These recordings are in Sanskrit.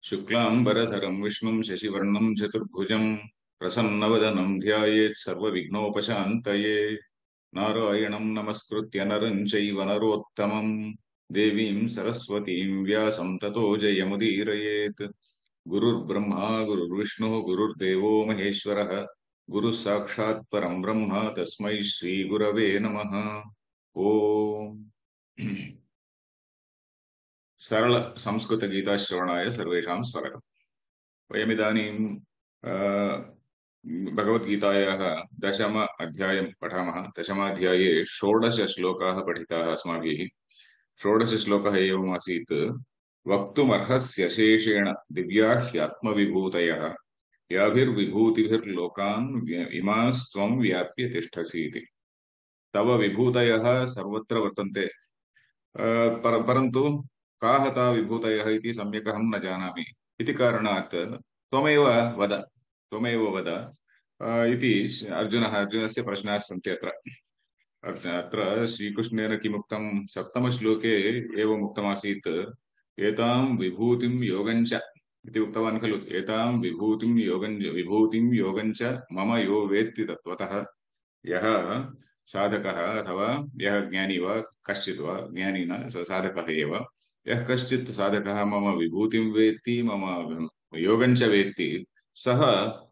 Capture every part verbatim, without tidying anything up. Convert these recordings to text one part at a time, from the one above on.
शुक्लांबरधरं विष्णुं शशिवर्णं चतुर्भुजं प्रसन्नवदनं ध्यायेत् सर्वविघ्नोपशान्तये। नारायणं नमस्कृत्य नरं चैव नरोत्तमं देवीं सरस्वतीं व्यासं ततो जयमुदीरयेत्। गुरुर्ब्रह्मा गुरुर्विष्णुः गुरुर्देवो महेश्वरः गुरुः साक्षात् परं ब्रह्म तस्मै श्रीगुरवे नमः। ओम सरल संस्कृत गीताश्रवणाय सर्वेषां स्वागतम्। वयमिदानीं भगवद्गीतायाः दशम अध्यायं पठामः। दशमाध्याये षोडश श्लोकाः पठिताः अस्माभिः। षोडश श्लोकः एवमासीत्। वक्तुमर्हस्य शेषेण दिव्या ह्यात्मविभूतयः याभिर्विभूतिभिर्लोकान् इमास्त्वं व्याप्य तिष्ठसि इति। तव विभूतयः सर्वत्र वर्तन्ते, पर, परन्तु काः ता विभूतयः इति सम्यक् अहं न जानामि इति कारणात् त्वमेव वद त्वमेव वद इति अर्जुनः अर्जुनस्य प्रश्नाः सन्ति। अत्र अत्र श्रीकृष्णेन किमुक्तं? सप्तमश्लोके एवम् उक्तमासीत्, एतां विभूतिं योगञ्च इति उक्तवान् खलु। एतां विभूतिं योगञ्च विभूतिं योगञ्च मम यो वेत्ति तत्त्वतः। यः साधकः अथवा यः ज्ञानी वा कश्चित् वा, ज्ञानी न साधकः एव, यः कश्चित् साधकः मम विभूतिं वेत्ति मम योगञ्च वेत्ति सः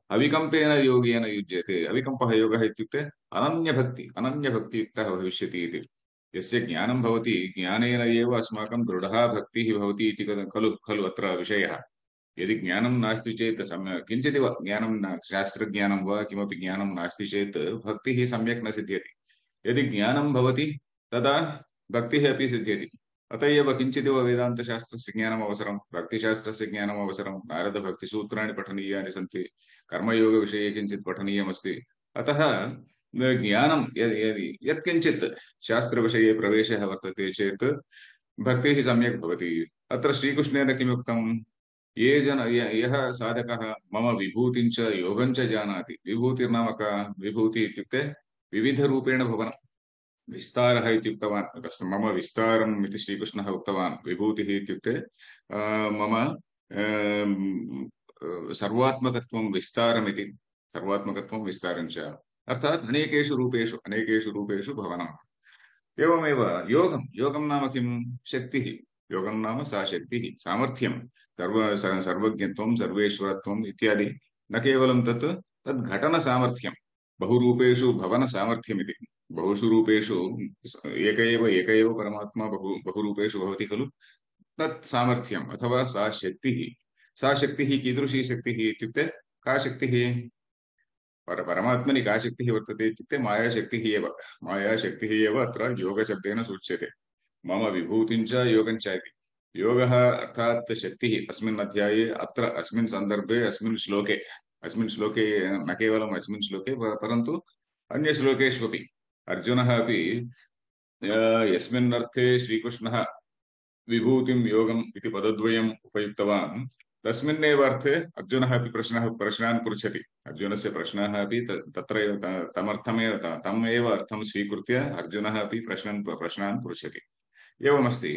अविकम्पेन योगेन युज्यते। अविकम्पः योगः इत्युक्ते अनन्यभक्ति अनन्यभक्तियुक्तः भविष्यति इति। यस्य ज्ञानं भवति ज्ञानेन एव अस्माकं दृढा भक्तिः भवति इति खलु खलु अत्र विषयः। यदि ज्ञानं नास्ति चेत् सम्यक् किञ्चिदिव ज्ञानं न शास्त्रज्ञानं वा किमपि ज्ञानं नास्ति चेत् भक्तिः सम्यक् न सिद्ध्यति। यदि ज्ञानं भवति तदा भक्तिः अपि सिद्ध्यति। अतः एव किञ्चिदिव वेदान्तशास्त्रस्य ज्ञानम् अवसरं, भक्तिशास्त्रस्य ज्ञानम् अवसरं, नारदभक्तिसूत्राणि पठनीयानि सन्ति, कर्मयोगविषये किञ्चित् पठनीयमस्ति। अतः ज्ञानं यदि यत्किञ्चित् शास्त्रविषये प्रवेशः वर्तते चेत् भक्तिः सम्यक् भवति। अत्र श्रीकृष्णेन किमुक्तं? ये जन यः साधकः मम विभूतिं च योगं च जानाति। विभूतिर्नाम का? विभूति इत्युक्ते विविधरूपेण भवनं, विस्तारः इति उक्तवान्। मम विस्तारम् इति श्रीकृष्णः उक्तवान्। विभूतिः इत्युक्ते मम सर्वात्मकत्वं विस्तारमिति। सर्वात्मकत्वं विस्तारं च अर्थात् अनेकेषु रूपेषु अनेकेषु रूपेषु भवनम्। एवमेव योगं योगं नाम किं? शक्तिः। योगं नाम सा शक्तिः, सामर्थ्यं, सर्व सर्वज्ञत्वं, सर्वेश्वरत्वम् इत्यादि। न केवलं तत् तद् घटनसामर्थ्यं, बहुरूपेषु भवनसामर्थ्यमिति। बहुषु रूपेषु एक एव एक एव परमात्मा बहु बहुरूपेषु भवति खलु। तत् सामर्थ्यम् अथवा सा शक्तिः। सा शक्तिः कीदृशी शक्तिः इत्युक्ते का शक्तिः? पर परमात्मनि का शक्तिः वर्तते इत्युक्ते मायाशक्तिः एव। मायाशक्तिः एव अत्र योगशब्देन सूच्यते। मम विभूतिं च योगं च इति। योगः अर्थात् शक्तिः। अस्मिन् अध्याये अत्र अस्मिन् सन्दर्भे अस्मिन् श्लोके अस्मिन् श्लोके न केवलम् अस्मिन् श्लोके परन्तु अन्य श्लोकेष्वपि अर्जुनः अपि यस्मिन् अर्थे श्रीकृष्णः विभूतिं योगम् इति पदद्वयम् उपयुक्तवान् तस्मिन्नेव अर्थे अर्जुनः अपि प्रश्नः प्रश्नान् पृच्छति। अर्जुनस्य प्रश्नः अपि तत्र एव तमर्थमेव तम् एव अर्थं स्वीकृत्य अर्जुनः अपि प्रश्नान् प्रश्नान् पृच्छति। एवमस्ति।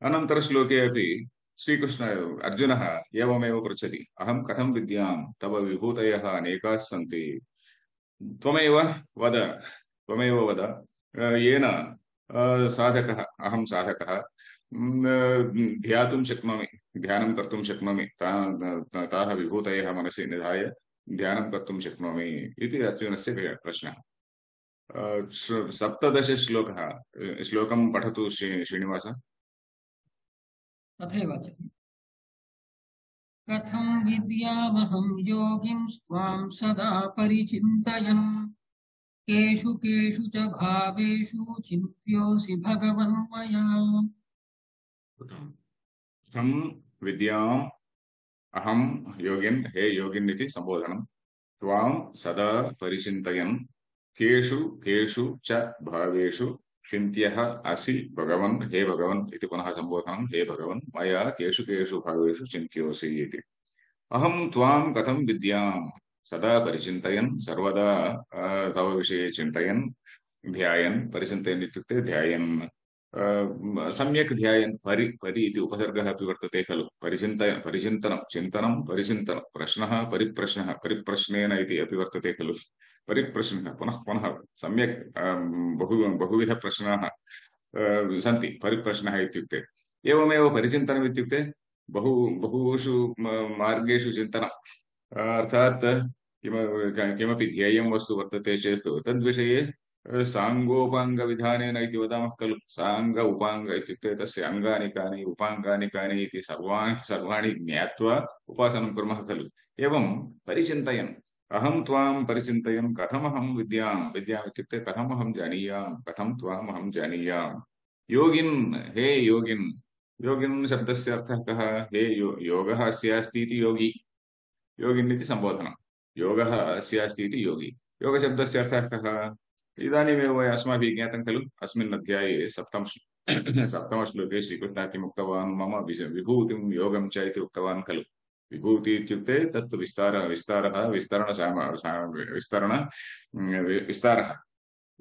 अनन्तरश्लोके अपि श्रीकृष्ण अर्जुनः एवमेव पृच्छति, अहं कथं विद्यां तव विभूतयः अनेकाः सन्ति, त्वमेव वद त्वमेव वद येन साधकः, अहं साधकः ध्यातुं शक्नोमि, ध्यानं कर्तुं शक्नोमि, ताः विभूतयः मनसि निधाय ध्यानं कर्तुं शक्नोमि इति अर्जुनस्य प्रश्नः। सप्तदश श्लोकः श्लोकं पठतु श्रीनिवास। तथैव कथं विद्यामहं योगिं स्वां सदा परिचिन्तयन् केषु केषु च भावेषु चिन्त्योऽसि भगवन् मया। कथं विद्याम् अहं योगिन्, हे योगिन् इति संबोधनं, त्वां सदा परिचिन्तयन् केषु केषु च भावेषु चिन्त्यः असि भगवन्, हे भगवन् इति पुनः संबोधनं, हे भगवन् मया केषु केषु भावेषु चिन्त्योऽसि इति। अहं त्वां कथं विद्यां सदा परिचिन्तयन्, सर्वदा तव विषये चिन्तयन्, ध्यायन्, परिचिन्तयन् इत्युक्ते ध्यायन्, सम्यक् ध्यायन् परि परि इति उपसर्गः अपि वर्तते खलु परिचिन्तय परिचिन्तनं चिन्तनं परिचिन्तनं प्रश्नः परिप्रश्नः परिप्रश्नेन इति अपि वर्तते खलु परिप्रश्नः पुनः पुनः सम्यक् बहु बहुविधप्रश्नाः सन्ति परिप्रश्नः इत्युक्ते एवमेव परिचिन्तनम् इत्युक्ते बहु बहुषु मार्गेषु चिन्तनम् अर्थात् किम किमपि ध्येयं वस्तु वर्तते चेत् तद्विषये साङ्गोपाङ्गविधानेन इति वदामः खलु साङ्ग उपाङ्ग इत्युक्ते तस्य अङ्गानि कानि उपाङ्गानि कानि इति सर्वाणि सर्वाणि ज्ञात्वा उपासनं कुर्मः खलु एवं परिचिन्तयन् अहं त्वां परिचिन्तयन् कथमहं विद्यां विद्याम् इत्युक्ते कथमहं जानीयां कथं त्वाम् अहं जानीयाम् योगिन् हे योगिन् योगिन् शब्दस्य अर्थः कः हे यो योगः अस्य अस्ति इति योगी योगिन् इति सम्बोधनं योगः अस्य अस्ति इति योगी योगशब्दस्य अर्थः कः इदानीमेव अस्माभिः ज्ञातं खलु अस्मिन् अध्याये सप्तम सप्तमश्लोके श्रीकृष्णः किम् उक्तवान् मम विभूतिं योगं च इति उक्तवान् खलु विभूति इत्युक्ते तत् विस्तार विस्तारः विस्तरण विस्तरण विस्तारः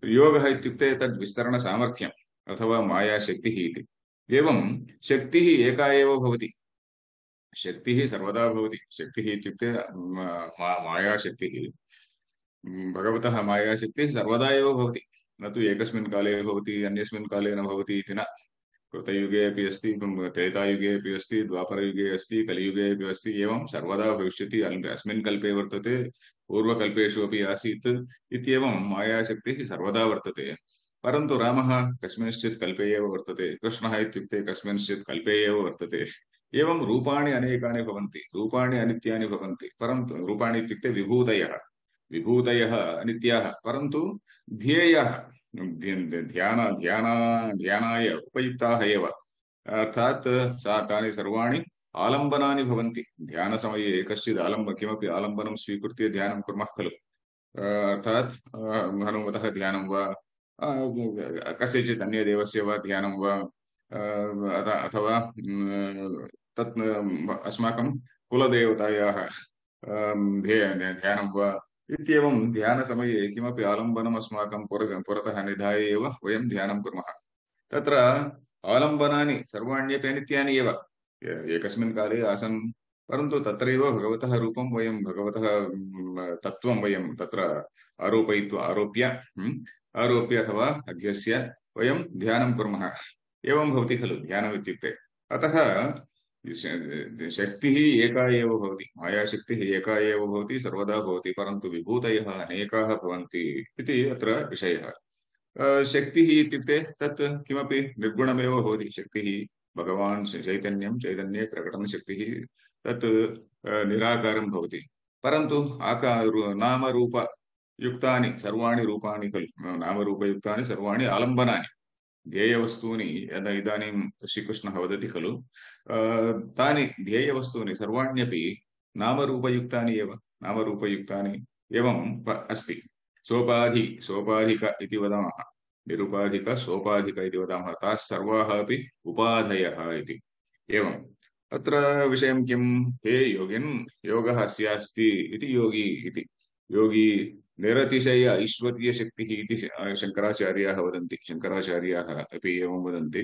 योगः इत्युक्ते तद् विस्तरणसामर्थ्यम् अथवा मायाशक्तिः इति एवं शक्तिः एका एव भवति शक्तिः सर्वदा भवति शक्तिः इत्युक्ते मायाशक्तिः भगवतः मायाशक्तिः सर्वदा एव भवति न तु एकस्मिन् काले भवति अन्यस्मिन् काले न भवति इति न कृतयुगे अपि अस्ति त्रेतायुगे अपि अस्ति द्वापरयुगे अस्ति कलियुगे अपि अस्ति एवं सर्वदा भविष्यति अस्मिन् कल्पे वर्तते पूर्वकल्पेषु अपि आसीत् इत्येवं मायाशक्तिः सर्वदा वर्तते परन्तु रामः कस्मिंश्चित् कल्पे एव वर्तते कृष्णः इत्युक्ते कस्मिंश्चित् कल्पे एव वर्तते एवं रूपाणि अनेकानि भवन्ति रूपाणि अनित्यानि भवन्ति परन्तु रूपाणि इत्युक्ते विभूतयः विभूतयः अनित्याः परन्तु ध्येयः ध्यान ध्यान ध्यानाय उपयुक्ताः एव अर्थात् सा तानि सर्वाणि आलम्बनानि भवन्ति ध्यानसमये कश्चित् आलम्ब किमपि आलम्बनं स्वीकृत्य ध्यानं कुर्मः खलु अर्थात् हनुमतः ध्यानं वा कस्यचित् अन्यदेवस्य वा ध्यानं वा अथवा तत् अस्माकं कुलदेवतायाः ध्यानं वा इत्येवं ध्यानसमये किमपि आलम्बनम् अस्माकं पुरतः निधाय एव वयं ध्यानं कुर्मः तत्र आलम्बनानि सर्वाण्यपि अनित्यानि एव एकस्मिन् काले आसन् परन्तु तत्रैव भगवतः रूपं वयं भगवतः तत्त्वं वयं तत्र आरोपयित्वा आरोप्य आरोप्य अथवा अध्यस्य वयं ध्यानं कुर्मः एवं भवति खलु ध्यानम् इत्युक्ते अतः शक्तिः एका एव भवति मायाशक्तिः एका एव भवति सर्वदा भवति परन्तु विभूतयः अनेकाः भवन्ति इति अत्र विषयः शक्तिः इत्युक्ते तत् किमपि निर्गुणमेव भवति शक्तिः भगवान् चैतन्यं चैतन्ये प्रकटनशक्तिः तत् निराकारं भवति परन्तु आकार नामरूपयुक्तानि सर्वाणि रूपाणि खलु नामरूपयुक्तानि सर्वाणि आलम्बनानि ध्येयवस्तूनि यदा इदानीं श्रीकृष्णः वदति खलु तानि ध्येयवस्तूनि सर्वाण्यपि नामरूपयुक्तानि एव नामरूपयुक्तानि एवं अस्ति सोपाधि सोपाधिक इति वदामः निरुपाधिक सोपाधिक इति वदामः ताः सर्वाः अपि उपाधयः इति एवं अत्र विषयं किं हे योगिन् योगः अस्यास्ति इति योगी इति योगी निरतिशय ऐश्वर्यशक्तिः इति शङ्कराचार्याः वदन्ति शङ्कराचार्याः अपि एवं वदन्ति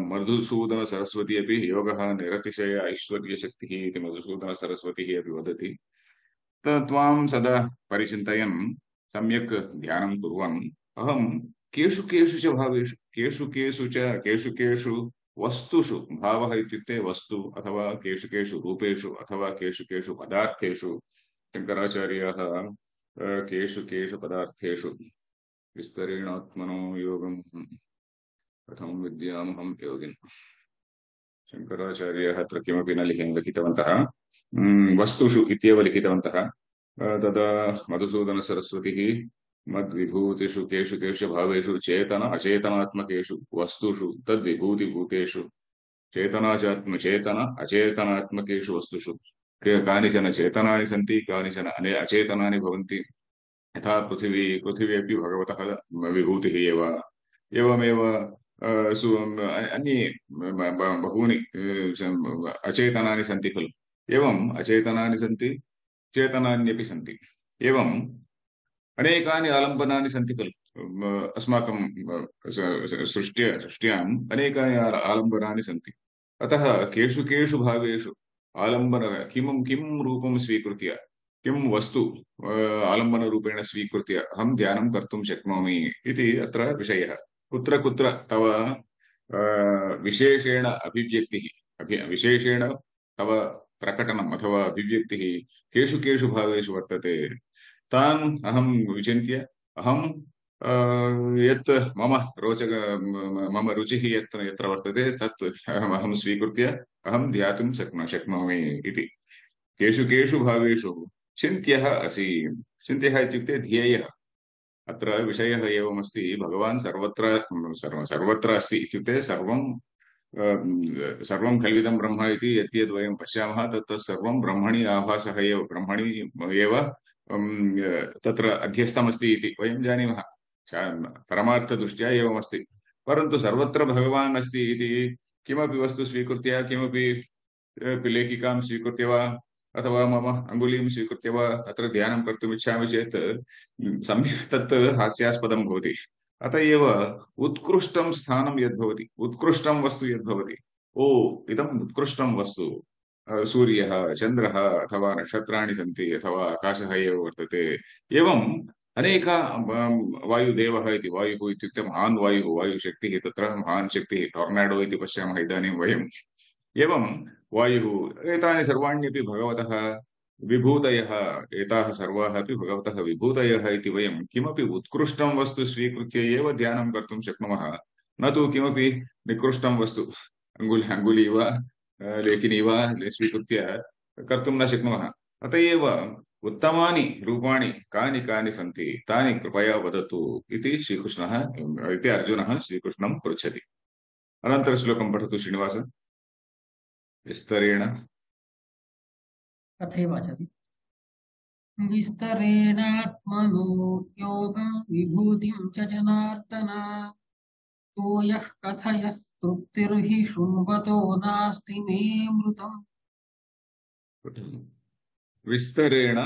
मधुसूदनसरस्वती अपि योगः निरतिशय ऐश्वर्यशक्तिः इति मधुसूदनसरस्वतीः अपि वदति त्वां सदा परिचिन्तयन् सम्यक् ध्यानं कुर्वन् अहं केषु केषु च भावेषु केषु केषु च केषु केषु वस्तुषु भावः इत्युक्ते वस्तु अथवा केषु केषु रूपेषु अथवा केषु केषु पदार्थेषु शङ्कराचार्याः केषु केषु पदार्थेषु विस्तरेणात्मनो योगं कथं विद्यामहं योगिन् शङ्कराचार्याः अत्र किमपि न लिखितवन्तः वस्तुषु इत्येव लिखितवन्तः तदा मधुसूदनसरस्वतीः मद्विभूतिषु केषु केषु भावेषु चेतन अचेतनात्मकेषु वस्तुषु तद्विभूतिभूतेषु चेतनाचात्म चेतन अचेतनात्मकेषु वस्तुषु कानिचन चेतनानि सन्ति कानिचन अचेतनानि भवन्ति यथा पृथिवी पृथिवी अपि भगवतः विभूतिः एव एवमेव अन्ये बहूनि अचेतनानि सन्ति खलु एवम् अचेतनानि सन्ति चेतनान्यपि सन्ति एवम् अनेकानि आलम्बनानि सन्ति खलु अस्माकं सृष्ट्या सृष्ट्याम् अनेकानि आलम्बनानि सन्ति। अतः केषु केषु भावेषु आलम्बन किं किं रूपं स्वीकृत्य किं वस्तु आलम्बनरूपेण स्वीकृत्य अहं ध्यानं कर्तुं शक्नोमि इति अत्र विषयः। कुत्र कुत्र तव विशेषेण अभिव्यक्तिः अभि विशेषेण तव प्रकटनम् अथवा अभिव्यक्तिः केषु केषु भावेषु वर्तते तान् अहं विचिन्त्य अहं यत् मम रोचक मम रुचिः यत् यत्र वर्तते तत् अहं स्वीकृत्य अहं ध्यातुं शक्नो शक्नोमि इति। केषु केषु भावेषु चिन्त्यः असि। चिन्त्यः इत्युक्ते ध्येयः। अत्र विषयः एवमस्ति, भगवान् सर्वत्र सर्व सर्वत्र अस्ति इत्युक्ते सर्वं सर्वं खल्विदं ब्रह्म इति यद्यद् वयं पश्यामः तत् सर्वं ब्रह्मणि आभासः एव, ब्रह्मणि एव तत्र अध्यस्तमस्ति इति वयं जानीमः। परमार्थदृष्ट्या एवमस्ति। परन्तु सर्वत्र भगवान् अस्ति इति किमपि वस्तु स्वीकृत्य किमपि लेखिकां स्वीकृत्य वा अथवा मम अङ्गुलीं स्वीकृत्य वा अत्र ध्यानं कर्तुम् इच्छामि चेत् सम्यक् तत् हास्यास्पदं भवति। अत एव उत्कृष्टं स्थानं यद्भवति, उत्कृष्टं वस्तु यद्भवति, ओ इदम् उत्कृष्टं वस्तु सूर्यः, चन्द्रः अथवा नक्षत्राणि सन्ति अथवा आकाशः एव वर्तते। एवम् अनेक वायुदेवः इति, वायुः इत्युक्ते महान् वायुः, वायुशक्तिः, तत्र महान् शक्तिः, टोर्नाडो इति पश्यामः इदानीं वयम्। एवं वायुः, एतानि सर्वाण्यपि भगवतः विभूतयः, एताः सर्वाः अपि भगवतः विभूतयः इति वयं किमपि उत्कृष्टं वस्तु स्वीकृत्य एव ध्यानं कर्तुं शक्नुमः, न तु किमपि निकृष्टं वस्तु अङ्गुली अङ्गुली वा लेखनी वा स्वीकृत्य कर्तुं न शक्नुमः। अत एव उत्तमानि रूपाणि कानि कानि सन्ति तानि कृपया वदतु इति श्रीकृष्णः इति अर्जुनः श्रीकृष्णं पृच्छति। अनन्तरश्लोकं पठतु श्रीनिवास विस्तरेण। तथैवाचति विस्तरेणात्मनो योगं विभूतिं च जनार्दन तो यः कथयः तृप्तिर्हि शृण्वतो नास्ति मे मृतम्। विस्तरेण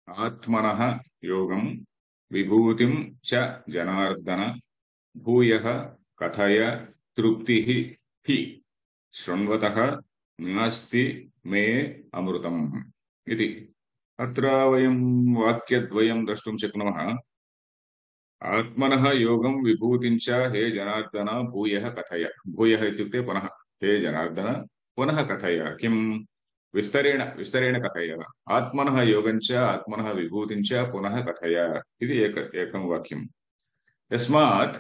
आत्मनः योगं विभूतिं च जनार्दन भूयः कथय तृप्तिः हि शृण्वतः नास्ति मे अमृतम् इति। अत्र वयं वाक्यद्वयं द्रष्टुं शक्नुमः। आत्मनः योगं विभूतिं च हे जनार्दन भूयः कथय। भूयः इत्युक्ते पुनः, हे जनार्दन पुनः कथय। किं? विस्तरेण विस्तरेण कथय। आत्मनः योगं च आत्मनः विभूतिं च पुनः कथय इति एक एकं वाक्यम्। यस्मात्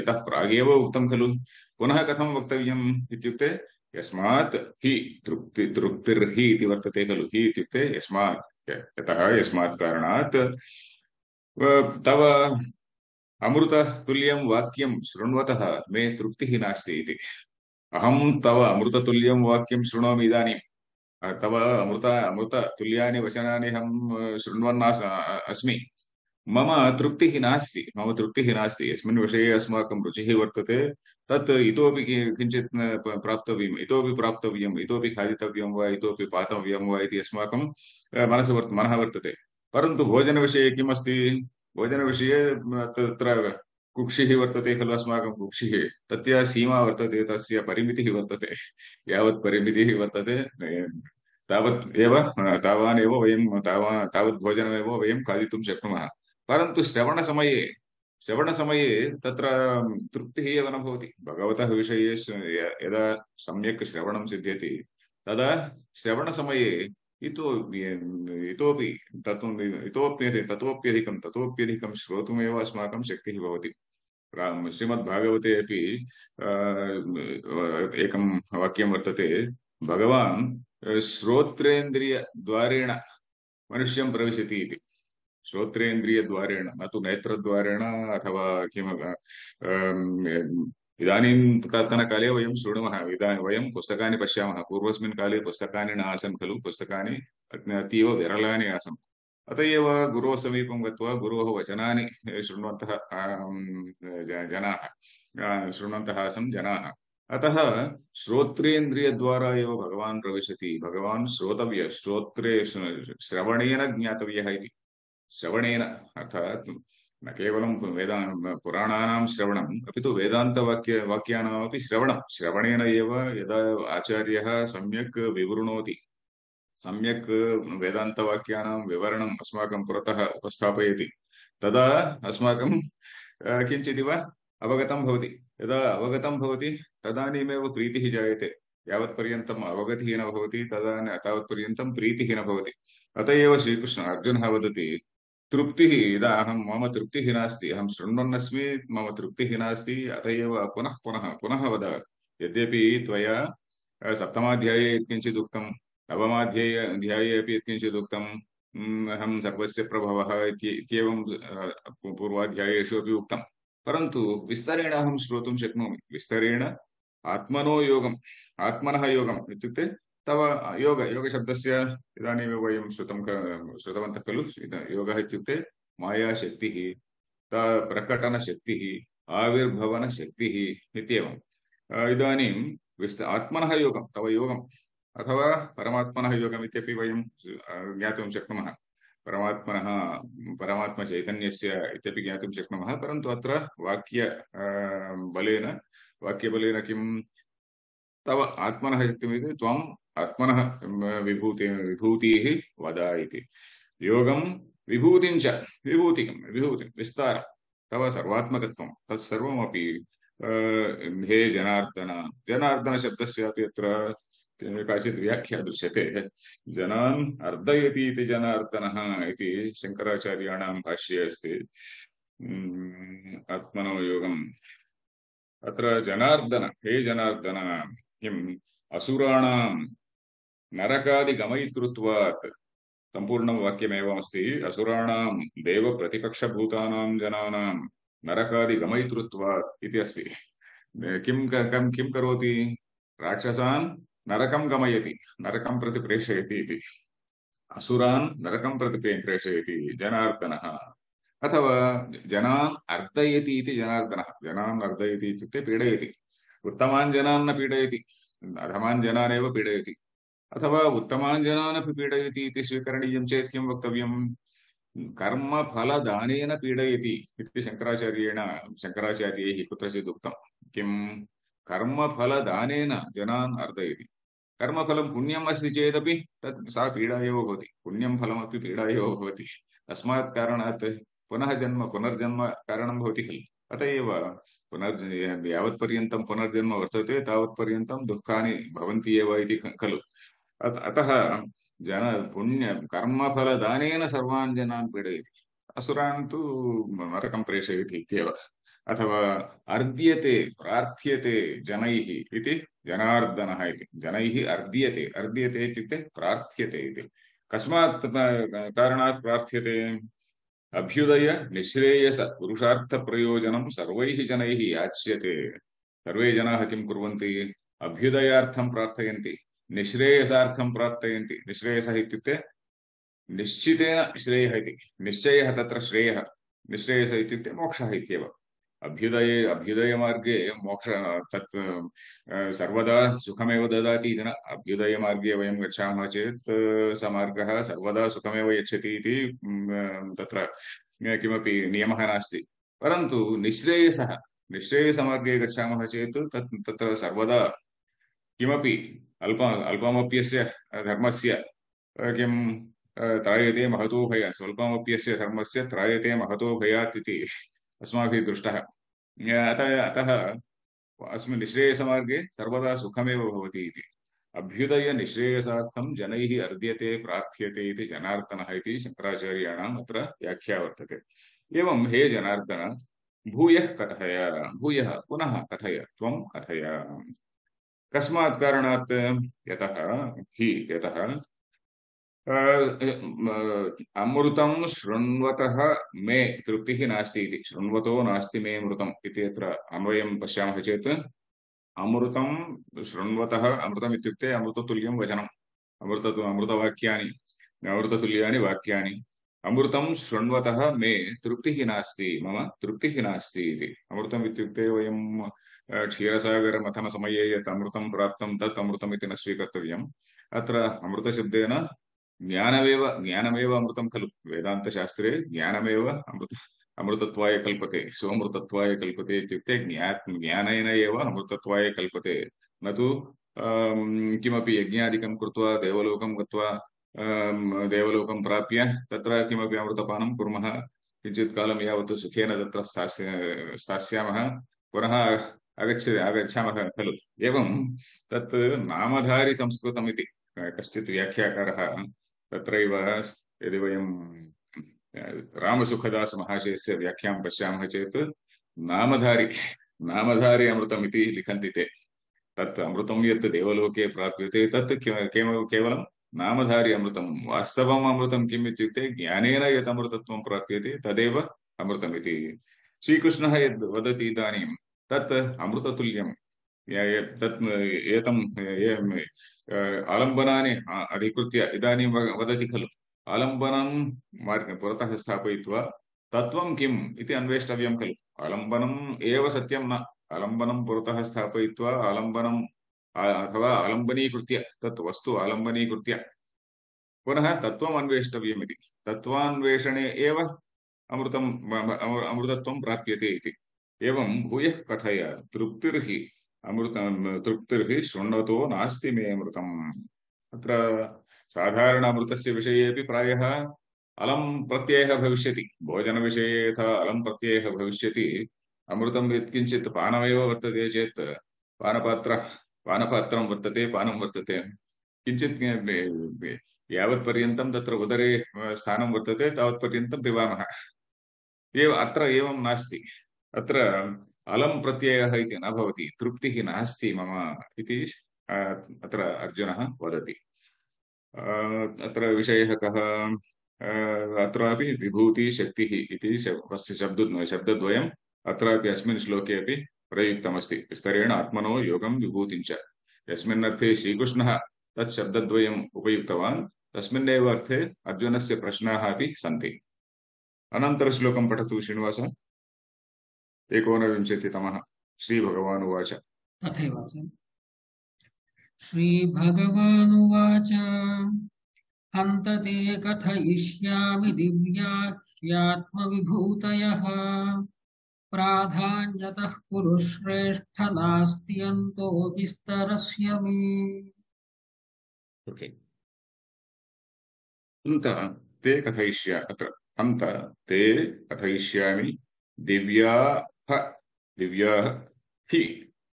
इतः प्रागेव उक्तं खलु, पुनः कथं वक्तव्यम् इत्युक्ते यस्मात् हि तृप्ति तृप्तिर्हि इति वर्तते खलु। हि इत्युक्ते यस्मात्, यतः यस्मात् कारणात् तव अमृततुल्यं वाक्यं शृण्वतः मे तृप्तिः नास्ति इति। अहं तव अमृततुल्यं वाक्यं शृणोमि इदानीं, तव अमृत अमृततुल्यानि वचनानि अहं शृण्वन् अस्मि, मम तृप्तिः नास्ति, मम तृप्तिः नास्ति। यस्मिन् विषये अस्माकं रुचिः वर्तते तत् इतोपि किञ्चित् प्राप्तव्यम्, इतोपि प्राप्तव्यम्, इतोपि खादितव्यं वा, इतोपि पातव्यं वा इति अस्माकं मनसि वर्त मनः वर्तते। परन्तु भोजनविषये किमस्ति? भोजनविषये तत्र कुक्षिः वर्तते खलु, अस्माकं कुक्षिः, तस्य सीमा वर्तते, तस्य परिमितिः वर्तते। यावत् परिमितिः वर्तते तावत् एव तावान् एव वयं तावा तावत् भोजनमेव वयं खादितुं शक्नुमः। परन्तु श्रवणसमये श्रवणसमये तत्र तृप्तिः एव न भवति। भगवतः विषये यदा सम्यक् श्रवणं सिद्ध्यति तदा श्रवणसमये इतोपि इतोपि तत् इतोप्यधिकं ततोप्यधिकं ततोप्यधिकं श्रोतुमेव अस्माकं शक्तिः भवति। श्रीमद्भागवते अपि एकं वाक्यं वर्तते, भगवान् श्रोत्रेन्द्रियद्वारेण मनुष्यं प्रविशति इति। श्रोत्रेन्द्रियद्वारेण, न तु नेत्रद्वारेण अथवा किम्। इदानीं तत्काले वयं शृणुमः, इदानीं वयं पुस्तकानि पश्यामः। पूर्वस्मिन् काले पुस्तकानि न आसन् खलु, पुस्तकानि अतीव विरलानि आसन्। अत एव गुरोः समीपं गत्वा गुरोः वचनानि शृण्वन्तः जनाः शृण्वन्तः आसन् जनाः। अतः श्रोत्रेन्द्रियद्वारा एव भगवान् प्रविशति। भगवान् श्रोतव्य, श्रोत्रे श्रवणेन ज्ञातव्यः इति। श्रवणेन अर्थात् न केवलं वेदा पुराणानां श्रवणम् अपि तु वेदान्तवाक्य वाक्यानामपि श्रवणं श्रवणेन एव यदा आचार्यः सम्यक् विवृणोति सम्यक् वेदान्तवाक्यानां विवरणम् अस्माकं पुरतः उपस्थापयति तदा अस्माकं किञ्चिदिव अवगतं भवति यदा अवगतं भवति तदानीमेव प्रीतिः जायते यावत्पर्यन्तम् अवगतिः न भवति तदा तावत्पर्यन्तं प्रीतिः न भवति अत एव श्रीकृष्ण अर्जुनः वदति तृप्तिः यदा अहं मम तृप्तिः नास्ति अहं शृण्वन्नस्मि मम तृप्तिः नास्ति अत एव पुनः पुनः पुनः वद यद्यपि त्वया सप्तमाध्याये यत्किञ्चित् उक्तं नवमाध्याये अध्याये अपि यत्किञ्चित् उक्तं अहं सर्वस्य प्रभवः इत्येवं पूर्वाध्यायेषु अपि उक्तं परन्तु विस्तरेण अहं श्रोतुं शक्नोमि विस्तरेण आत्मनो योगम् आत्मनः योगम् इत्युक्ते तव योग योगशब्दस्य इदानीमेव वयं श्रुतं श्रुतवन्तः खलु योगः इत्युक्ते मायाशक्तिः प्रकटनशक्तिः आविर्भवनशक्तिः इत्येवम् इदानीं विस्त आत्मनः योगं तव योगम् अथवा परमात्मनः योगम् इत्यपि वयं ज्ञातुं शक्नुमः परमात्मनः परमात्मचैतन्यस्य इत्यपि ज्ञातुं शक्नुमः परन्तु अत्र वाक्य बलेन वाक्यबलेन किं तव आत्मनः शक्तिमिति त्वम् आत्मनः विभूति विभूतिः वद इति योगं विभूतिं च विभूतिकं विभूतिं विस्तारं तव सर्वात्मकत्वं तत्सर्वमपि हे जनार्दन जनार्दन शब्दस्यापि अत्र काचित् व्याख्या दृश्यते जनान् अर्दयति इति जनार्दनः इति शङ्कराचार्याणां भाष्ये अस्ति आत्मनो योगम् अत्र जनार्दन हे जनार्दन किम् असुराणां नरकादिगमयितृत्वात् सम्पूर्णं वाक्यमेवमस्ति असुराणां देवप्रतिपक्षभूतानां जनानां नरकादिगमयितृत्वात् इति अस्ति किं किं किं करोति राक्षसान् नरकं गमयति नरकं प्रति प्रेषयति इति असुरान् नरकं प्रति प्रेषयति जनार्दनः अथवा जनान् अर्दयति इति जनार्दनः जनान् अर्दयति इत्युक्ते पीडयति उत्तमान् जनान् न पीडयति अधमान् जनान् एव पीडयति अथवा उत्तमान् जनान् अपि पीडयति इति स्वीकरणीयं चेत् किं वक्तव्यं कर्मफलदानेन पीडयति इति शङ्कराचार्येण शङ्कराचार्यैः कुत्रचित् उक्तं किं कर्मफलदानेन जनान् अर्दयति कर्मफलं पुण्यम् अस्ति चेदपि तत् सा पीडा एव भवति पुण्यं फलमपि पीडा एव भवति तस्मात् कारणात् पुनः जन्म पुनर्जन्म कारणं भवति खलु अत एव पुनर् यावत्पर्यन्तं पुनर्जन्म वर्तते तावत्पर्यन्तं दुःखानि भवन्ति एव इति खलु अतः जन पुण्य कर्मफलदानेन सर्वान् जनान् पीडयति असुरान् तु नरकं प्रेषयति इत्येव अथवा अर्द्यते प्रार्थ्यते जनैः इति जनार्दनः इति जनैः अर्द्यते अर्द्यते इत्युक्ते प्रार्थ्यते इति कस्मात् कारणात् प्रार्थ्यते अभ्युदय निःश्रेयस पुरुषार्थ प्रयोजनं सर्वैः जनैः याच्यते सर्वे जनाः किं कुर्वन्ति अभ्युदयार्थं प्रार्थयन्ति निःश्रेयसार्थं प्रार्थयन्ति निःश्रेयसः इत्युक्ते निश्चितेन श्रेयः इति निश्चयः तत्र श्रेयः निःश्रेयसः इत्युक्ते मोक्षः इत्येव अभ्युदये अभ्युदयमार्गे मोक्ष तत् सर्वदा सुखमेव ददाति इति न अभ्युदयमार्गे वयं गच्छामः चेत् स मार्गः सर्वदा सुखमेव यच्छति इति तत्र किमपि नियमः नास्ति परन्तु निःश्रेयसः निःश्रेयसमार्गे गच्छामः चेत् तत् तत्र सर्वदा किमपि अल्प अल्पमप्यस्य धर्मस्य किं त्रायते महतो भयात् स्वल्पमप्यस्य धर्मस्य त्रायते महतो भयात् इति अस्माभिः दृष्टः अतः अतः अस्मिन् निःश्रेयसमार्गे सर्वदा सुखमेव भवति इति अभ्युदय निःश्रेयसार्थं जनैः अर्द्यते प्रार्थ्यते इति जनार्दनः इति शङ्कराचार्याणाम् अत्र व्याख्या वर्तते एवं हे जनार्दन भूयः कथय भूयः पुनः कथय त्वं कथय कस्मात् कारणात् यतः हि यतः अमृतं शृण्वतः मे तृप्तिः नास्ति इति शृण्वतो नास्ति मे अमृतम् इति अत्र अन्वयं पश्यामः चेत् अमृतं शृण्वतः अमृतम् इत्युक्ते अमृततुल्यं वचनम् अमृत अमृतवाक्यानि अमृततुल्यानि वाक्यानि अमृतं शृण्वतः मे तृप्तिः नास्ति मम तृप्तिः नास्ति इति अमृतम् इत्युक्ते वयं क्षीरसागरमथनसमये यत् अमृतं प्राप्तं तत् अमृतम् इति न स्वीकर्तव्यम् अत्र अमृतशब्देन ज्ञानमेव ज्ञानमेव अमृतं खलु वेदान्तशास्त्रे ज्ञानमेव अमृत अमृतत्वाय कल्पते सोमृतत्वाय कल्पते इत्युक्ते ज्ञा ज्ञानेन एव अमृतत्वाय कल्पते न तु अं, किमपि यज्ञादिकं कृत्वा देवलोकं गत्वा अं, देवलोकं प्राप्य तत्र किमपि अमृतपानं कुर्मः किञ्चित् कालं यावत् सुखेन तत्र स्थास्य स्थास्यामः पुनः आगच्छ आगच्छामः खलु एवं तत् नामधारि संस्कृतम् इति कश्चित् व्याख्याकारः तत्रैव यदि वयं रामसुखदास महाशयस्य व्याख्यां पश्यामः चेत् नामधारी नामधारी अमृतम् इति लिखन्ति ते तत् अमृतं यत् देवलोके प्राप्यते तत् केवलं नामधारी अमृतं वास्तवम् अमृतं किम् इत्युक्ते ज्ञानेन यत् अमृतत्वं प्राप्यते तदेव अमृतमिति श्रीकृष्णः यद् वदति इदानीं तत् अमृततुल्यं तत् एतं आलम्बनानि अधिकृत्य इदानीं वदति खलु आलम्बनं पुरतः स्थापयित्वा तत्त्वं किम् इति अन्वेष्टव्यं खलु आलम्बनम् एव सत्यं न आलम्बनं पुरतः स्थापयित्वा आलम्बनम् अथवा आलम्बनीकृत्य तत् वस्तु आलम्बनीकृत्य पुनः तत्त्वम् अन्वेष्टव्यम् इति तत्त्वान्वेषणे एव अमृतम् अमृतत्वं प्राप्यते इति एवं भूयः कथय तृप्तिर्हि अमृतं तृप्तिर्हि शृण्वतो नास्ति मे अमृतम् अत्र साधारण अमृतस्य विषये अपि प्रायः अलं प्रत्ययः भविष्यति भोजनविषये यथा अलं प्रत्ययः भविष्यति अमृतं यत्किञ्चित् पानमेव वर्तते चेत् पानपात्र पानपात्रं वर्तते पानं वर्तते किञ्चित् यावत्पर्यन्तं तत्र उदरे स्थानं वर्तते तावत्पर्यन्तं पिबामः एव अत्र एवं नास्ति अत्र अलं प्रत्ययः इति न भवति तृप्तिः नास्ति मम इति अत्र अर्जुनः वदति अत्र विषयः कः अत्रापि विभूति शक्तिः इति शब्द शब्दद्वयम् अत्रापि अस्मिन् श्लोके अपि प्रयुक्तमस्ति विस्तरेण आत्मनो योगं विभूतिं च यस्मिन् अर्थे श्रीकृष्णः तत् शब्दद्वयम् उपयुक्तवान् तस्मिन्नेव अर्थे अर्जुनस्य प्रश्नाः अपि सन्ति अनन्तरश्लोकं पठतु श्रीनिवासः एकोनविंशतितमः श्रीभगवानुवाच तथैव श्रीभगवानुवाच हन्त ते कथयिष्यामि दिव्याह्यात्मविभूतयः प्राधान्यतः कुरु श्रेष्ठ नास्ति अन्तो विस्तरस्य मे ओके हन्त ते कथयिष्या अत्र हन्त ते कथयिष्यामि दिव्याः दिव्याः हि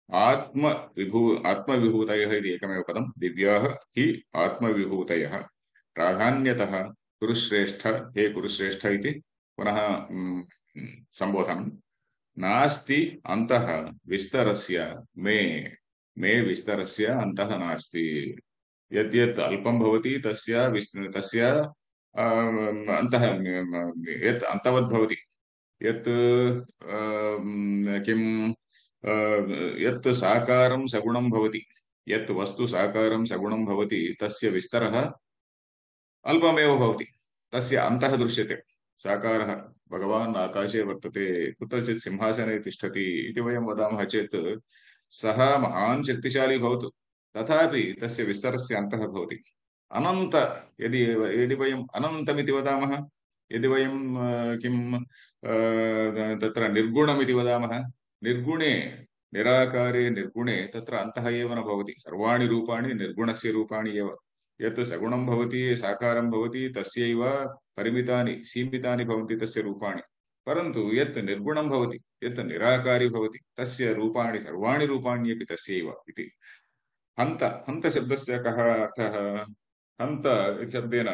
आत्मविभू आत्मविभूतयः इति एकमेव पदं दिव्याः हि आत्मविभूतयः प्राधान्यतः कुरुश्रेष्ठ हे कुरुश्रेष्ठ इति पुनः संबोधनं नास्ति अन्तः विस्तरस्य मे मे विस्तरस्य अन्तः नास्ति यद्यत् अल्पं भवति तस्य तस्य अन्तः यत् अन्तवद् भवति यत् किं यत् साकारं सगुणं भवति यत् वस्तु साकारं सगुणं भवति तस्य विस्तरः अल्पमेव भवति तस्य अन्तः दृश्यते साकारः भगवान् आकाशे वर्तते कुत्रचित् सिंहासने तिष्ठति इति वयं वदामः चेत् सः महान् शक्तिशाली भवतु तथापि तस्य विस्तरस्य अन्तः भवति अनन्त यदि यदि वयम् अनन्तमिति वदामः यदि वयं किं तत्र निर्गुणमिति वदामः निर्गुणे निराकारे निर्गुणे तत्र अन्तः एव न भवति सर्वाणि रूपाणि निर्गुणस्य रूपाणि एव यत् सगुणं भवति साकारं भवति तस्यैव परिमितानि सीमितानि भवन्ति तस्य रूपाणि परन्तु यत् निर्गुणं भवति यत् निराकारी भवति तस्य रूपाणि सर्वाणि रूपाण्यपि तस्यैव इति हन्त हन्त शब्दस्य कः अर्थः हन्त इति शब्देन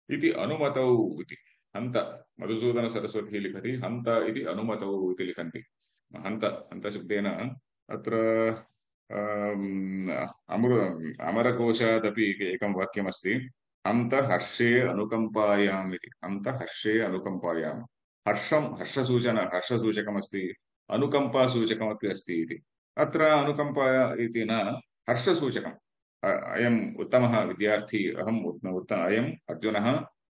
इति अनुमतौ इति हन्त मधुसूदन सरस्वती लिखति हन्त इति अनुमतौ इति लिखन्ति हन्त हन्त शब्देन अत्र अमृ अमरकोशादपि एकं वाक्यमस्ति हन्त हर्षे अनुकम्पायाम् इति हन्त हर्षे अनुकम्पायाम् हर्षं हर्षसूचन हर्षसूचकमस्ति अनुकम्पासूचकमपि अस्ति इति अत्र अनुकम्पा इति न हर्षसूचकम् अयम् उत्तमः विद्यार्थी अहम् उत्तम अयम् अर्जुनः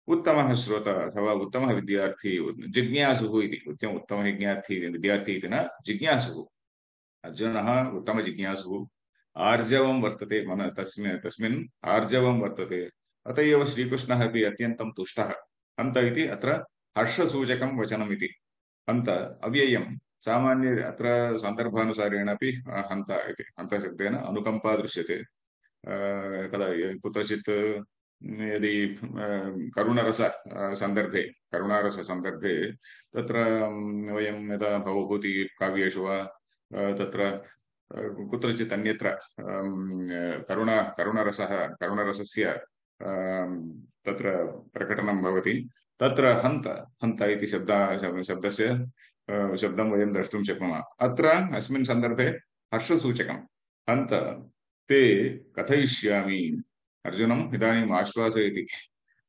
उत्तमः श्रोता अथवा उत्तमः विद्यार्थी जिज्ञासुः इति उत्तम उत्तमः विज्ञार्थी विद्यार्थी इति न जिज्ञासुः अर्जुनः उत्तमजिज्ञासुः आर्जवं वर्तते मन तस्मिन् तस्मिन् आर्जवं वर्तते अत एव श्रीकृष्णः अपि अत्यन्तं तुष्टः हन्त इति अत्र हर्षसूचकं वचनम् इति हन्त अव्ययं सामान्य अत्र सन्दर्भानुसारेण अपि हन्त इति हन्तशब्देन अनुकम्पा दृश्यते कदा कुत्रचित् यदि करुणरस सन्दर्भे करुणारस सन्दर्भे तत्र वयं यदा भवभूति काव्येषु वा तत्र कुत्रचित् अन्यत्र करुणा करुणरसः करुणरसस्य तत्र प्रकटनं भवति तत्र हन्त हन्त इति शब्द शब्दस्य शब्दं वयं द्रष्टुं शक्नुमः अत्र अस्मिन् सन्दर्भे हर्षसूचकं हन्त ते कथयिष्यामि अर्जुनम् इदानीम् आश्वासयति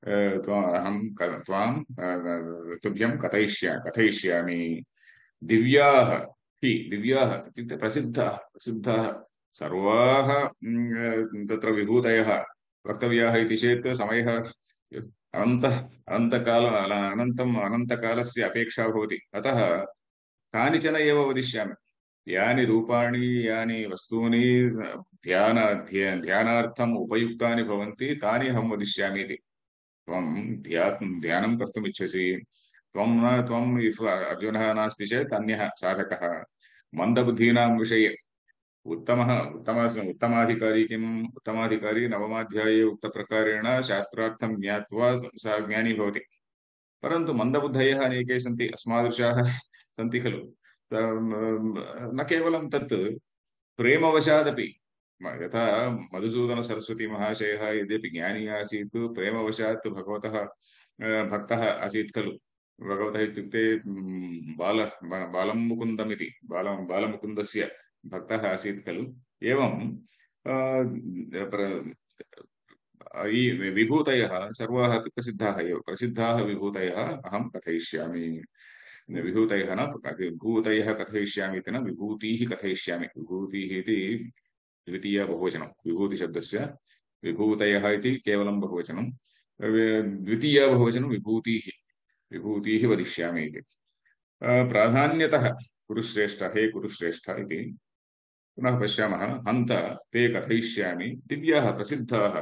अहं त्वां तुभ्यं कथयिष्या कथयिष्यामि दिव्याः हि दिव्याः इत्युक्ते प्रसिद्धाः प्रसिद्धाः सर्वाः तत्र विभूतयः वक्तव्याः इति चेत् समयः अनन्तः अनन्तकाल अनन्तम् अनन्तकालस्य अपेक्षा भवति अतः कानिचन एव वदिष्यामि यानि रूपाणि यानि वस्तूनि ध्यान ध्यानार्थम् उपयुक्तानि भवन्ति तानि अहं वदिष्यामि इति त्वं ध्यानं कर्तुम् इच्छसि त्वं न त्वम् अर्जुनः नास्ति चेत् अन्यः साधकः मन्दबुद्धीनां विषये उत्तमः उत्तम उत्तमाधिकारी किम् उत्तमाधिकारी नवमाध्याये उक्तप्रकारेण शास्त्रार्थं ज्ञात्वा सा ज्ञानी भवति परन्तु मन्दबुद्धयः अनेके सन्ति अस्मादृशाः सन्ति खलु न केवलं तत् प्रेमवशादपि यथा मधुसूदनसरस्वती महाशयः यद्यपि ज्ञानी आसीत् प्रेमवशात् भगवतः भक्तः आसीत् खलु भगवतः इत्युक्ते बाल बालं मुकुन्दमिति बाल बालमुकुन्दस्य भक्तः आसीत् खलु एवं विभूतयः सर्वाः अपि प्रसिद्धाः एव प्रसिद्धाः विभूतयः अहं कथयिष्यामि विभूतयः न विभूतयः कथयिष्यामि इति न विभूतिः कथयिष्यामि विभूतिः इति द्वितीया बहुवचनं विभूतिशब्दस्य विभूतयः इति केवलं बहुवचनं द्वितीया बहुवचनं विभूतिः विभूतिः वदिष्यामि इति प्राधान्यतः कुरुश्रेष्ठ हे कुरुश्रेष्ठ इति पुनः पश्यामः हन्त ते कथयिष्यामि दिव्याः प्रसिद्धाः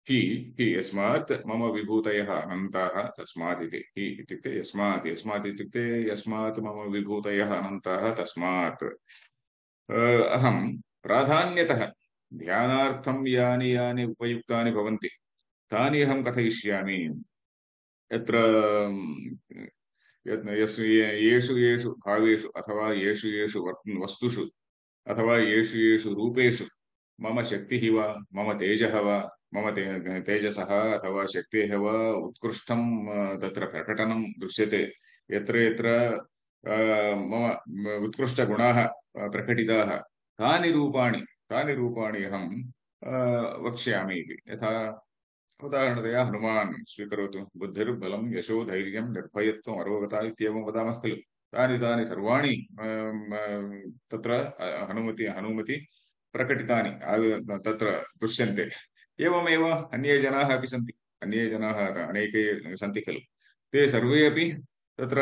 हि हि यस्मात् मम विभूतयः अनन्ताः तस्मात् इति हि इत्युक्ते यस्मात् यस्मात् इत्युक्ते यस्मात् मम विभूतयः अनन्ताः तस्मात् अहं प्राधान्यतः ध्यानार्थं यानि यानि उपयुक्तानि भवन्ति तानि अहं कथयिष्यामि यत्र येषु येषु भावेषु अथवा येषु येषु वस्तुषु अथवा येषु येषु रूपेषु मम शक्तिः वा मम तेजः वा मम ते तेजसः अथवा शक्तेः वा उत्कृष्टं तत्र प्रकटनं दृश्यते यत्र यत्र मम उत्कृष्टगुणाः प्रकटिताः तानि रूपाणि तानि रूपाणि अहं वक्ष्यामि इति यथा उदाहरणतया हनुमान् स्वीकरोतु बुद्धिर्बलं यशो धैर्यं निर्भयत्वम् अरोगता इत्येवं वदामः खलु तानि तानि सर्वाणि तत्र हनुमति हनुमति प्रकटितानि तत्र दृश्यन्ते एवमेव अन्ये जनाः अपि सन्ति अन्ये जनाः अनेके सन्ति खलु ते सर्वे अपि तत्र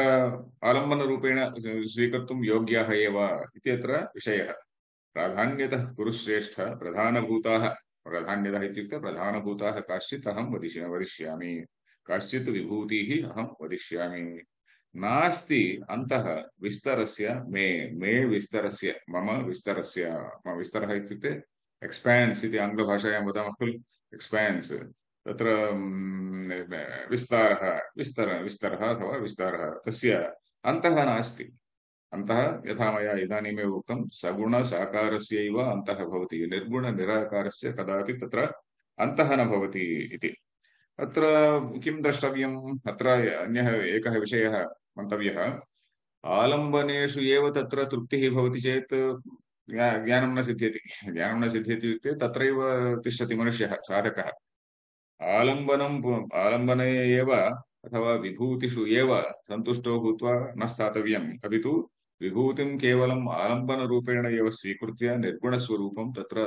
आलम्बनरूपेण स्वीकर्तुं योग्याः एव इत्यत्र विषयः प्राधान्यतः कुरुश्रेष्ठ प्रधानभूताः प्राधान्यतः इत्युक्ते प्रधानभूताः काश्चित् अहं वदिष्य वदिष्यामि काश्चित् विभूतिः अहं वदिष्यामि नास्ति अन्तः विस्तरस्य मे मे विस्तरस्य मम विस्तरस्य मम विस्तरः इत्युक्ते एक्सपेन्स् इति आङ्ग्लभाषायां वदामः खलु एक्सपेन्स् तत्र विस्तारः विस्तर विस्तरः अथवा विस्तारः तस्य अन्तः नास्ति अन्तः यथा मया इदानीमेव उक्तं सगुणसाकारस्यैव अन्तः भवति निर्गुणनिराकारस्य कदापि तत्र अन्तः न भवति इति अत्र किं द्रष्टव्यम् अत्र अन्यः एकः विषयः मन्तव्यः आलम्बनेषु एव तत्र तृप्तिः भवति चेत् ज्ञानं न सिद्ध्यति ज्ञानं न सिद्ध्यति इत्युक्ते तत्रैव तिष्ठति मनुष्यः साधकः आलम्बनम् आलम्बने एव अथवा विभूतिषु एव सन्तुष्टो भूत्वा न स्थातव्यम् अपि तु विभूतिं केवलम् आलम्बनरूपेण एव स्वीकृत्य निर्गुणस्वरूपं तत्र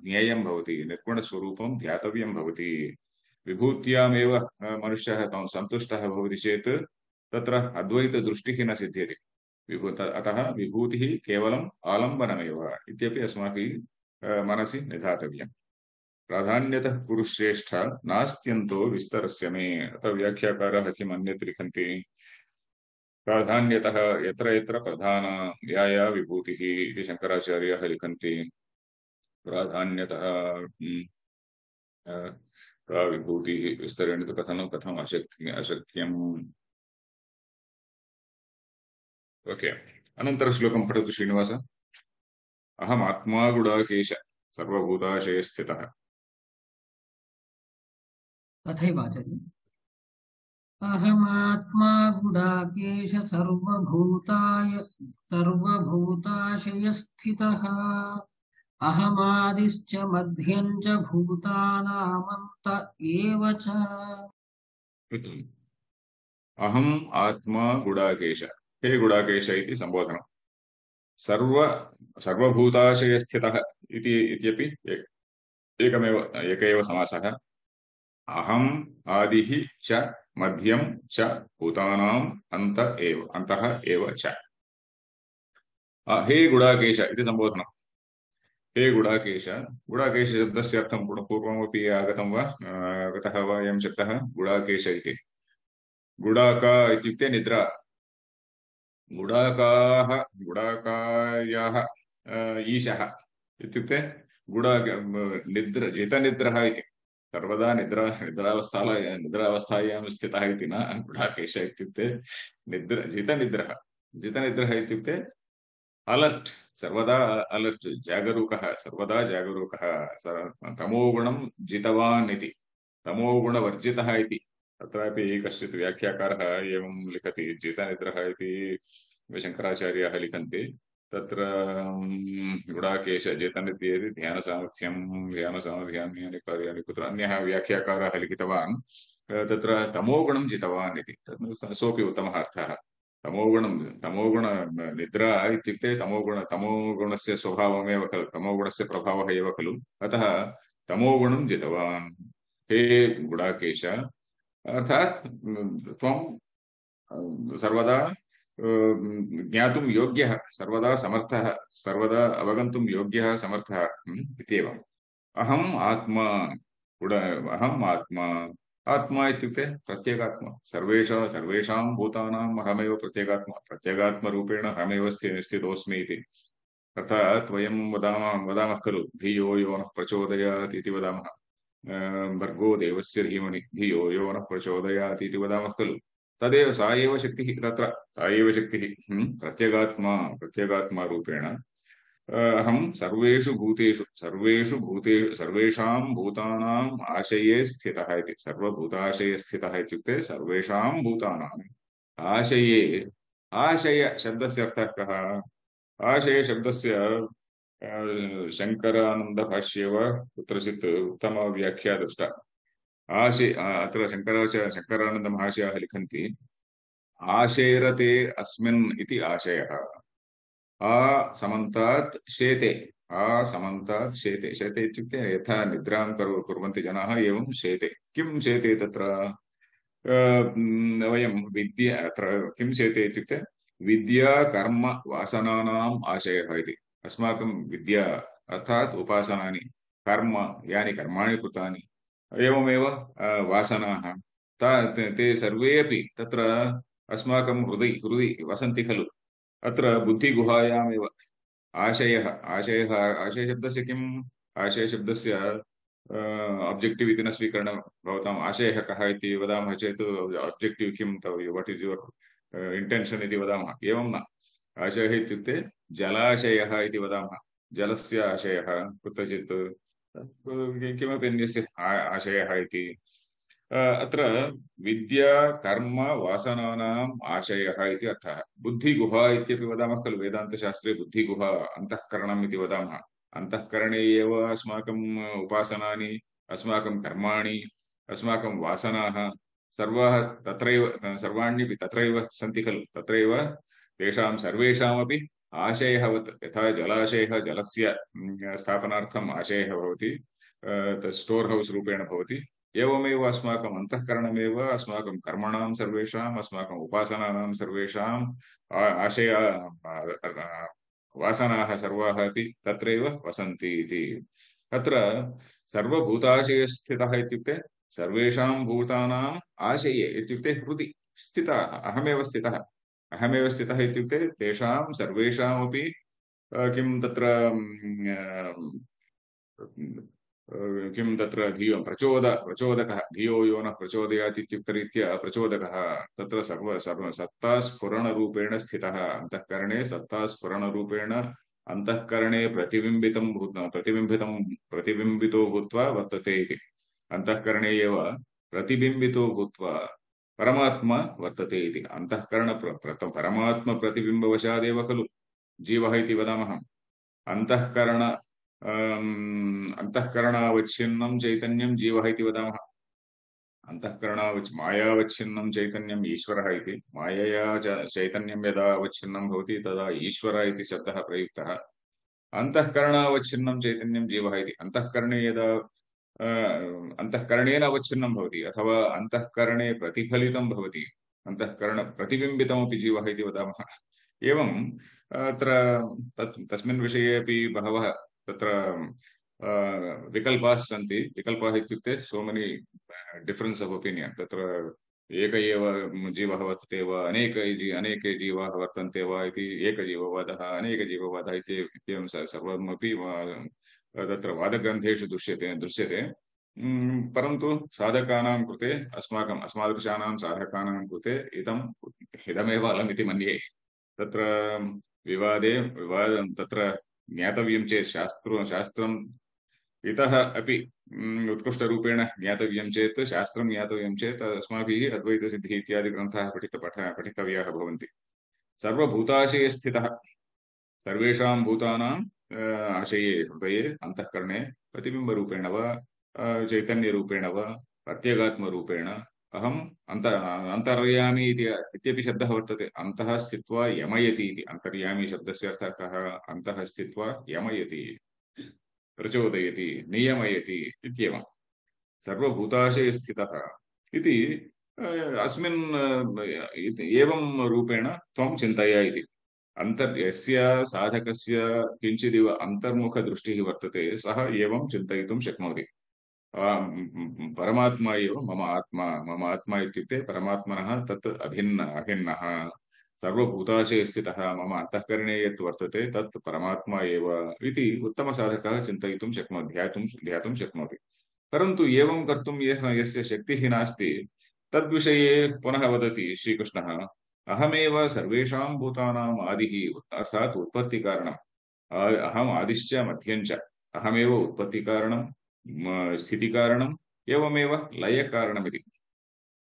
ज्ञेयं भवति निर्गुणस्वरूपं ध्यातव्यं भवति विभूत्यामेव मनुष्यः सन्तुष्टः भवति चेत् तत्र अद्वैतदृष्टिः न सिद्ध्यति विभूत अतः विभूतिः केवलम् आलम्बनमेव इत्यपि अस्माभिः मनसि निधातव्यम् प्राधान्यतः कुरुश्रेष्ठ नास्त्यन्तो विस्तरस्य मे अतः व्याख्याकारः किम् अन्यत् लिखन्ति प्राधान्यतः यत्र यत्र प्रधाना या या विभूतिः इति शङ्कराचार्याः लिखन्ति प्राधान्यतः सा विभूतिः विस्तरेण तु कथनं कथम् अशक्य अशक्यम् ओके अनन्तरश्लोकं पठतु श्रीनिवास अहमात्मा गुडाकेश सर्वभूताशयस्थितः तथैव आचार्य अहमात्मा गुडाकेश सर्वभूताय सर्वभूताशयस्थितः अहमादिश्च मध्यं च भूतानामन्त एव च अहम् आत्मा गुडाकेश हे गुडाकेश इति सम्बोधनम् सर्व सर्वभूताशयस्थितः इति इत्यपि एकमेव एक एव समासः अहम् आदिः च मध्यं च भूतानाम् अन्त एव अन्तः एव च हे गुडाकेश इति सम्बोधनम् हे गुडाकेश गुडाकेश शब्दस्य अर्थं पूर्वमपि आगतं वा गतः वा अयं शब्दः गुडाकेश इति गुडाका इत्युक्ते निद्रा गुडाकाः गुडाकायाः ईशः इत्युक्ते गुडा निद्र जितनिद्रः इति सर्वदा निद्रा निद्रावस्था निद्रावस्थायां स्थितः इति न गुडाकेश इत्युक्ते निद्र जितनिद्रः जितनिद्रः इत्युक्ते अलर्ट् सर्वदा अलर्ट् जागरूकः सर्वदा जागरूकः तमोगुणं जितवान् इति तमोगुणवर्जितः इति तत्रापि कश्चित् व्याख्याकारः एवं लिखति जितनिद्रः इति शङ्कराचार्याः लिखन्ति तत्र गुडाकेश जितनिद्रा इति ध्यानसामर्थ्यं ध्यानसामर्थ्यानि कार्याणि कुत्र अन्यः व्याख्याकारः लिखितवान् तत्र तमोगुणं जितवान् इति सोऽपि उत्तमः अर्थः तमोगुणं तमोगुण निद्रा इत्युक्ते तमोगुण तमोगुणस्य स्वभावमेव खलु तमोगुणस्य प्रभावः एव खलु अतः तमोगुणं जितवान् हे गुडाकेश अर्थात् त्वं सर्वदा ज्ञातुं योग्यः सर्वदा समर्थः सर्वदा अवगन्तुं योग्यः समर्थः इत्येवम् अहम् आत्मा गुड अहम् आत्मा आत्मा इत्युक्ते प्रत्येगात्मा सर्वेषां सर्वेषां भूतानाम् अहमेव प्रत्येगात्मा प्रत्येगात्मरूपेण अहमेव स्थितोऽस्मि इति अर्थात् वयं वदामः वदामः खलु धियो यो नः प्रचोदयात् इति वदामः भर्गो देवस्य धीमहि धियो यो नः प्रचोदयात् इति वदामः खलु तदेव सा एव शक्तिः तत्र सा एव शक्तिः प्रत्येगात्मा प्रत्येगात्मारूपेण अहं सर्वेषु भूतेषु सर्वेषु भूतेषु सर्वेषां भूतानाम् आशये स्थितः इति सर्वभूताशये स्थितः इत्युक्ते सर्वेषां भूतानाम् आशये आशय शब्दस्य अर्थः कः आशय शब्दस्य शङ्करानन्दभाष्ये वा कुत्रचित् उत्तमव्याख्या दृष्टा आशय अत्र शङ्कराचार्य शङ्करानन्दमहाशयाः लिखन्ति आशेरते अस्मिन् इति आशयः आ समन्तात् शेते आ समन्तात् शेते शेते इत्युक्ते यथा निद्रां कुर्वन्ति जनाः एवं शेते किं शेते तत्र वयं विद्या अत्र किं शेते इत्युक्ते विद्या कर्म वासनानाम् आशयः इति अस्माकं विद्या अर्थात् उपासनानि कर्म यानि कर्माणि कृतानि एवमेव वासनाः ते सर्वे अपि तत्र अस्माकं हृदि हृदि वसन्ति खलु अत्र बुद्धिगुहायामेव आशयः आशयः आशयशब्दस्य किम् आशयशब्दस्य ऑब्जेक्टिव इति न स्वीकरणं भवताम् आशयः कः इति वदामः चेत् ऑब्जेक्टिव किं व्हाट इज युवर इंटेंशन इति वदामः एवं न आशयः इत्युक्ते जलाशयः इति वदामः जलस्य आशयः कुत्रचित् किमपि अन्यस्य आशयः इति अत्र विद्या कर्म वासनानाम् आशयः इति अर्थः बुद्धिगुहा इत्यपि वदामः खलु वेदान्तशास्त्रे बुद्धिगुहा अन्तःकरणम् इति वदामः अन्तःकरणे एव अस्माकम् उपासनानि अस्माकं कर्माणि अस्माकं वासनाः सर्वाः तत्रैव सर्वाण्यपि तत्रैव सन्ति खलु तत्रैव तेषां सर्वेषामपि आशयः यथा जलाशयः जलस्य स्थापनार्थम् आशयः भवति तत् स्टोर् हौस् रूपेण भवति एवमेव अस्माकम् अन्तःकरणमेव अस्माकं कर्मणां सर्वेषाम् अस्माकम् उपासनानां सर्वेषाम् आशय वासनाः सर्वाः अपि तत्रैव वसन्ति इति तत्र सर्वभूताशयस्थितः इत्युक्ते सर्वेषां भूतानाम् आशये इत्युक्ते हृदि स्थितः अहमेव स्थितः अहमेव स्थितः इत्युक्ते तेषां सर्वेषामपि किं तत्र किं तत्र धियो प्रचोद प्रचोदकः धियो यो न प्रचोदयात् इत्युक्तरीत्या प्रचोदकः तत्र सर्व सर्व सत्तास्फुरणरूपेण स्थितः अन्तःकरणे सत्तास्फुरणरूपेण अन्तःकरणे प्रतिबिम्बितं भूत प्रतिबिम्बितं प्रतिबिम्बितो भूत्वा वर्तते इति अन्तःकरणे एव प्रतिबिम्बितो भूत्वा परमात्मा वर्तते इति अन्तःकरण परमात्म प्रतिबिम्बवशादेव खलु जीवः इति वदामः अंतःकरण अंतःकरणावच्छिन्नं चैतन्यं जीवः इति वदामः अंतःकरणावच् मायावच्छिन्नं चैतन्यम् ईश्वरः इति मायया चैतन्यं यदा अवच्छिन्नं भवति तदा ईश्वर इति शब्दः प्रयुक्तः अंतःकरणावच्छिन्नं चैतन्यं जीवः इति अंतःकरणे यदा अंतःकरणेन अवच्छिन्नं भवति अथवा अंतःकरणे प्रतिफलितं भवति अंतःकरण प्रतिबिम्बितमपि जीवः इति वदामः एवं अत्र तस्मिन् विषये अपि बहवः तत्र विकल्पाः सन्ति विकल्पाः इत्युक्ते so many difference of opinion तत्र एक एव जीवः वर्तते वा अनेक अनेके जीवाः वर्तन्ते वा इति एकजीववादः अनेकजीववादः इति एवं सर्वमपि तत्र वादग्रन्थेषु दृश्यते दृश्यते परन्तु साधकानां कृते अस्माकम् अस्मादृशानां साधकानां कृते इदम् इदमेव अलमिति मन्ये तत्र विवादे विवाद तत्र ज्ञातव्यं चेत् शास्त्र शास्त्रम् इतः अपि उत्कृष्टरूपेण ज्ञातव्यं चेत् शास्त्रं ज्ञातव्यं चेत् अस्माभिः अद्वैतसिद्धिः इत्यादि ग्रन्थाः पठित पठ पठितव्याः भवन्ति सर्वभूताशये स्थितः सर्वेषां भूतानां आशये हृदये अन्तःकरणे प्रतिबिम्बरूपेण वा चैतन्यरूपेण वा प्रत्यगात्मरूपेण अहम् अन्त अन्तर्यामी इत्यपि शब्दः वर्तते अन्तः स्थित्वा यमयति इति अन्तर्यामी शब्दस्य अर्थः कः अन्तः स्थित्वा यमयति प्रचोदयति नियमयति इत्येवं सर्वभूताशये स्थितः इति अस्मिन् एवं रूपेण त्वं चिन्तय इति अन्तर् यस्य साधकस्य किञ्चिदिव अन्तर्मुखदृष्टिः वर्तते सः एवं चिन्तयितुं शक्नोति परमात्मा एव मम आत्मा मम आत्मा इत्युक्ते परमात्मनः तत् अभिन्न अभिन्नः सर्वभूताशये स्थितः मम अन्तःकरणे यत् वर्तते तत् परमात्मा एव इति उत्तमसाधकः चिन्तयितुं शक्नोति ध्यातुं ध्यातुं शक्नोति परन्तु एवं कर्तुं यः यस्य शक्तिः नास्ति तद्विषये पुनः वदति श्रीकृष्णः अहमेव सर्वेषां भूतानाम् आदिः अर्थात् उत्पत्तिकारणम् अहम् आदिश्च मध्यञ्च अहमेव उत्पत्तिकारणं स्थितिकारणम् एवमेव लयकारणमिति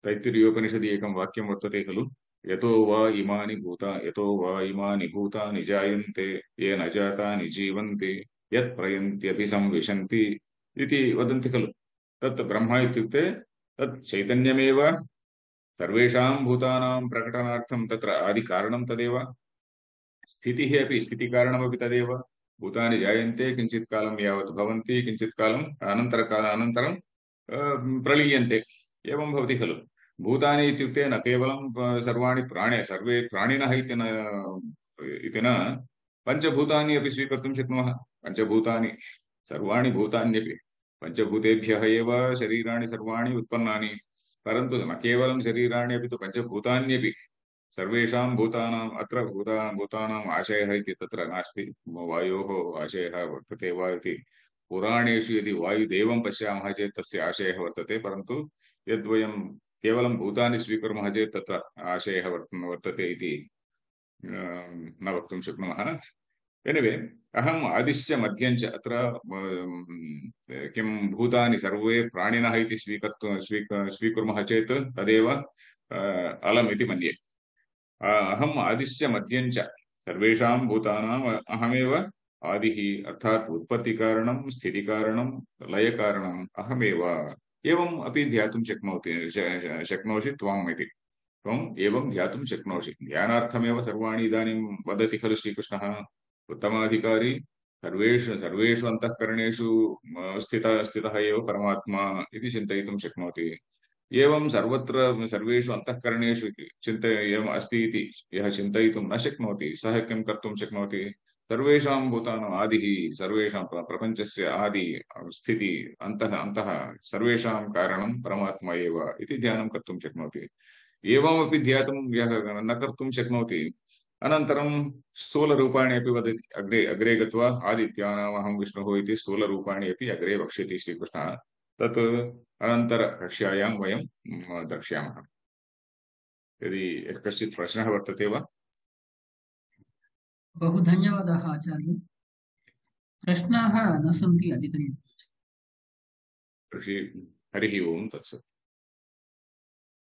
तैत्तिरीयोपनिषदि एकं वाक्यं वर्तते खलु यतो वा इमानि भूता यतो वा इमानि भूतानि जायन्ते ये न जातानि जीवन्ति यत् प्रयन्त्यभिसंविशन्ति इति वदन्ति खलु तत् ब्रह्म इत्युक्ते तत् चैतन्यमेव सर्वेषां भूतानां प्रकटनार्थं तत्र आदिकारणं तदेव स्थितिः अपि स्थितिकारणमपि तदेव भूतानि जायन्ते किञ्चित् कालं यावत् भवन्ति किञ्चित् कालम् अनन्तरकाल अनन्तरं प्रलीयन्ते एवं भवति खलु भूतानि इत्युक्ते न केवलं सर्वाणि प्राणे सर्वे प्राणिनः इति न इति न पञ्चभूतानि अपि स्वीकर्तुं शक्नुमः पञ्चभूतानि सर्वाणि भूतान्यपि पञ्चभूतेभ्यः एव शरीराणि सर्वाणि उत्पन्नानि परन्तु न केवलं शरीराणि अपि तु पञ्चभूतान्यपि सर्वेषां भूतानाम् अत्र भूता भूतानाम् आशयः इति तत्र नास्ति वायोः आशयः वर्तते वा इति पुराणेषु यदि वायुदेवं पश्यामः चेत् तस्य आशयः वर्तते परन्तु यद्वयं केवलं भूतानि स्वीकुर्मः चेत् तत्र आशयः वर्तते इति न वक्तुं शक्नुमः एनिवे अहम् आदिश्च मध्यञ्च अत्र किं भूतानि सर्वे प्राणिनः इति स्वीकर्तुं स्वीकुर्मः चेत् तदेव अलम् इति मन्ये अहम् आदिश्च मध्यञ्च सर्वेषां भूतानाम् अहमेव आदिः अर्थात् उत्पत्तिकारणं स्थितिकारणं लयकारणम् अहमेव एवम् अपि ध्यातुं शक्नोति शक्नोषि त्वम् इति त्वम् एवं ध्यातुं शक्नोषि ध्यानार्थमेव सर्वाणि इदानीं वदति खलु श्रीकृष्णः उत्तमाधिकारी सर्वेषु सर्वेषु अन्तःकरणेषु स्थितः स्थितः एव परमात्मा इति चिन्तयितुं शक्नोति एवं सर्वत्र सर्वेषु अन्तःकरणेषु चिन्त एवम् अस्ति इति यः चिन्तयितुं न शक्नोति सः किं कर्तुं शक्नोति सर्वेषां भूतानाम् आदिः सर्वेषां प्रपञ्चस्य आदि स्थिति अन्तः अन्तः सर्वेषां कारणं परमात्मा एव इति ध्यानं कर्तुं शक्नोति एवमपि ध्यातुं यः न कर्तुं शक्नोति अनन्तरं स्थूलरूपाणि अपि वदति अग्रे अग्रे गत्वा आदित्यानामहं विष्णुः इति स्थूलरूपाणि अपि अग्रे वक्ष्यति श्रीकृष्णः तत् अनन्तरकक्ष्यायां वयं म, द्रक्ष्यामः यदि कश्चित् प्रश्नः वर्तते वा बहु धन्यवादाः आचार्य। प्रश्नाः न सन्ति अधिकतया। तर्हि हरिः ओं तत्सत्